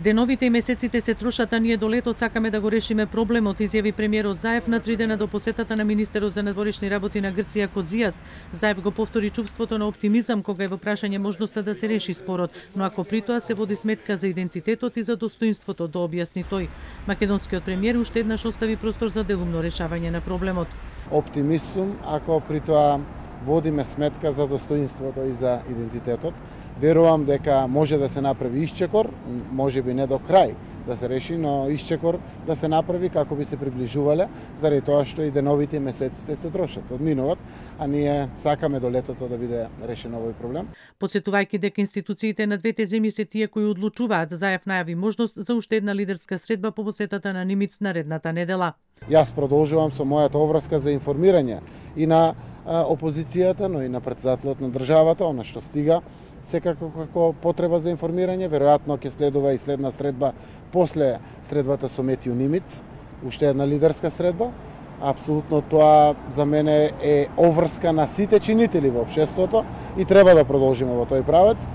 Деновите и месеците се трошат, а ние до лето сакаме да го решиме проблемот, изјави премиерот Заев на 3 дена до посетата на министерот за надворешни работи на Грција Кодзијас. Заев го повтори чувството на оптимизам кога е во прашање можноста да се реши спорот, но ако при тоа се води сметка за идентитетот и за достоинството, да објасни тој. Македонскиот премиер уште еднаш остави простор за делумно решавање на проблемот. Оптимист сум ако при тоа водиме сметка за достоинството и за идентитетот. Верувам дека може да се направи исчекор, може би не до крај да се реши, но исчекор да се направи како би се приближувале, заради тоа што и деновите и месеците се трошат, одминуваат, а ние сакаме до летото да биде решен овој проблем. Потсетувајќи дека институциите на двете земји се тие кои одлучуваат, Заев најави можност за уште една лидерска средба по посетата на Нимиц наредната недела. Јас продолжувам со мојата обврска за информирање и на опозицијата, но и на претседателот на државата, она што стига секако како потреба за информирање. Веројатно ќе следува и следна средба после средбата со Метју Нимиц, уште една лидерска средба. Апсолутно тоа за мене е обврска на сите чинители во општеството и треба да продолжиме во тој правец.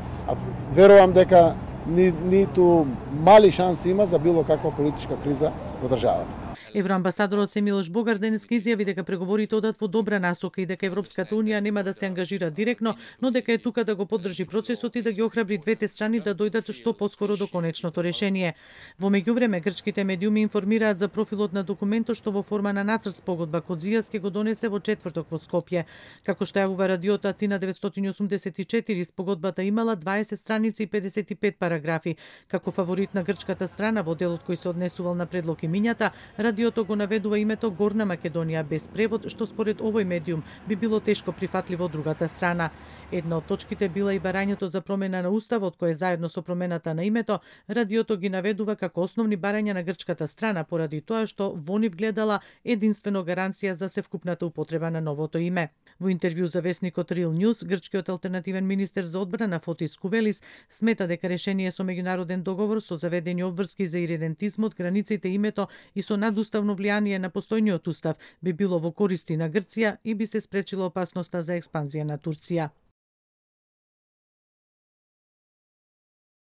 Верувам дека ниту мали шанси има за било каква политичка криза во државата. Евроамбасадорот Семилош Богар денеска изјави дека преговорите одат во добра насока и дека Европската унија нема да се ангажира директно, но дека е тука да го поддржи процесот и да ги охрабри двете страни да дојдат што поскоро до конечното решение. Во меѓувреме грчките медиуми информираат за профилот на документот што во форма на нацрт спогодба Кодзијас ќе го донесе во четврток во Скопје. Како што јавува радиото Атина 984, спогодбата имала 20 страници и 55 параграфи. Како фаворит на грчката страна во делот кој се однесувал на предлог и мињата, радиото го наведува името Горна Македонија без превод, што според овој медиум би било тешко прифатливо од другата страна. Една од точките била и барањето за промена на уставот, кое заедно со промената на името, радиото ги наведува како основни барања на грчката страна, поради тоа што во нив гледала единствено гаранција за севкупната употреба на новото име. Во интервју за весникот Real News, грчкиот алтернативен министер за одбрана Фотис Кувелис смета дека решение со меѓународен договор со заведени обврски за иридентизмот, границите, името и со надуставно влијание на постојниот устав би било во користи на Грција и би се спречила опасноста за експанзија на Турција.